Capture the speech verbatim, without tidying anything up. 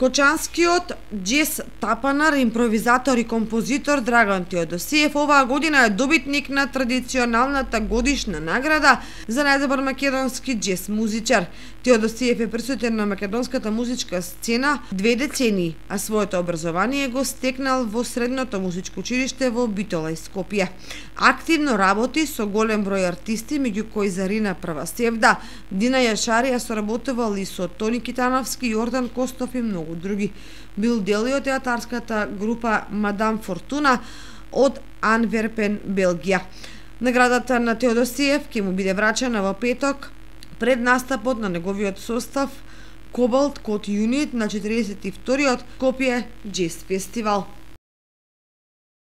Кочанскиот џез тапанар, импровизатор и композитор Драган Теодосиев оваа година е добитник на традиционалната годишна награда за најдобар македонски џез музичар. Теодосиев е присутен на македонската музичка сцена две децении, а своето образование го стекнал во Средното музичко училиште во Битола и Скопје. Активно работи со голем број артисти, меѓу кои Зарина Правасевда, Дина Јашарија соработувал и со Тони Китановски, Јордан Костов и многу други. Бил дел и од театарската група Мадам Фортуна од Анверпен, Белгија. Наградата на Теодосиев ќе му биде врачена во петок пред настапот на неговиот состав Кобалт Код Юнит на четиридесет и вториот Скопје џез фестивал.